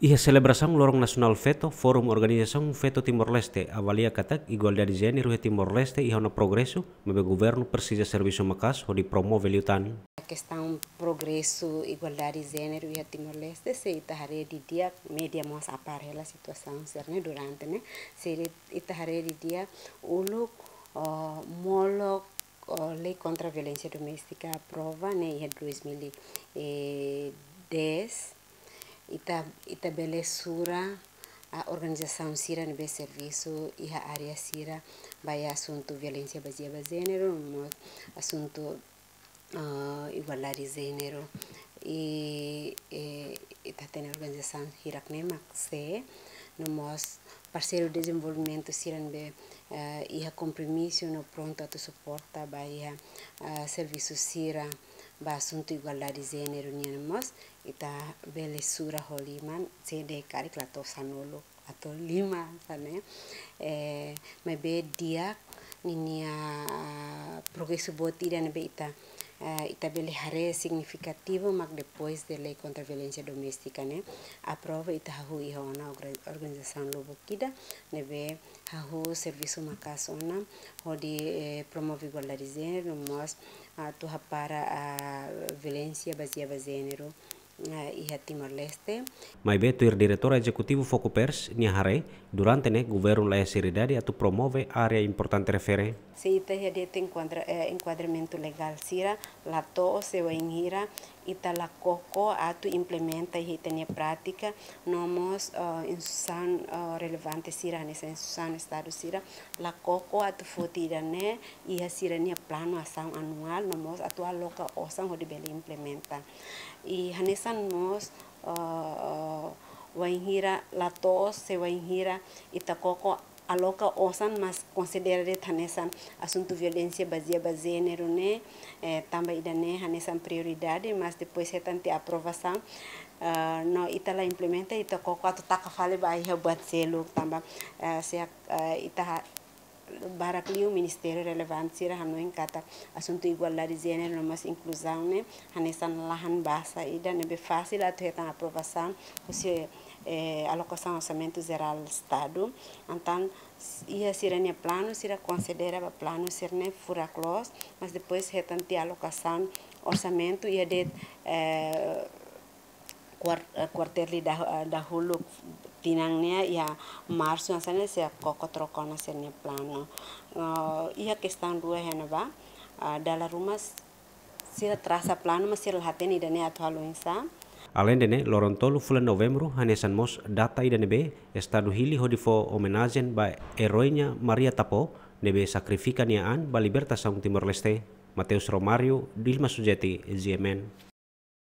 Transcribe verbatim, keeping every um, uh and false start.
Iha selebrasaun Loron Nasionál Feto, Forum Organizasaun Feto Timor-Leste avalia katak igualdade jéneru iha Timor-Leste iha ona progresu, maibé governu presiza servisu maka'as hodi promove liután. Kestaun progresu igualdade jéneru iha Timor-Leste, se ita haree didi'ak, média mós apár hela situasaun sira-ne'e durante ne'e, se ita haree didi'ak uluk, oh, molok, oh, lei kontra violénsia doméstika aprova ne'e iha dois mil e dez, ita, ita bele sura, ah, organizasaun sira ne'ebé servisu iha área sira ba iha asuntu violénsia bazeia ba jéneru, no mós asuntu, ah, igualdade jéneru. I, eh, ita hatene organizasaun hirak-ne'e mak sé, no mós parseiru dezenvolvimentu sira ne'ebé, eh, iha kompromisu no prontu atu suporta ba iha, eh, servisu sira ba asuntu igualdade jéneru nian mós, ita bele sura ho liman, se de'it karik la to'o sanulu atu lima, hanesan ne'e. Eh, maibé di'ak ninia, ah, progresu boot ida ne'ebé ita, eh, ita bele haree signifikativu mak depois de lei kontra violénsia doméstika ne'e aprova, ita hahú iha ona orga-, organizasaun lubuk ida ne'ebé hahú servisu maka'as ona hodi, eh, promove igualdade jéneru, no mós atu hapara, ah, violénsia bazeia ba jéneru, ah, iha Timor-Leste. Maibé tuir diretora ezekutiva Fokupers nia haree, durante ne'e governu laiha seriedade atu promove área importante refere. Se ita iha de'it enkuadra-, eh, enkuadramentu legál sira, la to'o se wainhira ita la koko atu implementa iha ita-nia prátika, no mós, eh, instituisaun, eh, relevante sira, hanesan instituisaun Estadu sira, la koko atu foti ida-ne'e iha sira-nia planu asaun anuál, no mós atu aloka osan hodi bele implementa. I hanesan mós, eh, eh, wainhira la to'o se wainhira ita koko aloka osan, mas konsidera de'it hanesan asuntu violénsia bazeia ba jéneru ne'e, eh, tanba ida-ne'e hanesan prioridade, mas depois hetan tiha aprovasaun, eh, no ita la implementa, ita koko atu taka fali ba iha buat seluk tanba, eh, se, eh, ita ha-, barak liu ministériu relevante sira hanoin katak asuntu igualdade jéneru no mós inkluzaun ne'e hanesan lahan basa ida ne'ebé fasil atu hetan aprovasaun husi, eh, alokasaun orsamentu jerál Estadu. Entaun, s-, iha sira-nia planu, sira konsidera ba planu sira-ne'e furak loos, mas depois hetan tiha alokasaun orsamentu iha de'it, eh, kuar-, eh, kuartél ida, eh, dahuluk tinan ne'e, iha Marsu hanesan ne'e sira koko troka ona sira-nia planu. Eh, iha kestaun rua iha ne'ebá, eh, dala ruma s-, sira trasa planu, mas sira la hatene ida-ne'e atu halo oinsá. Aleinde ne'e, loron tolu fulan Novembru hanesan mós data ida ne'ebé Estadu hili hodi fó omenajen ba erói nia Maria Tapó, ne'ebé sakrifika nia an ba libertasaun Timor-Leste. Mateus Romário, Dilma Sujeti, G M N.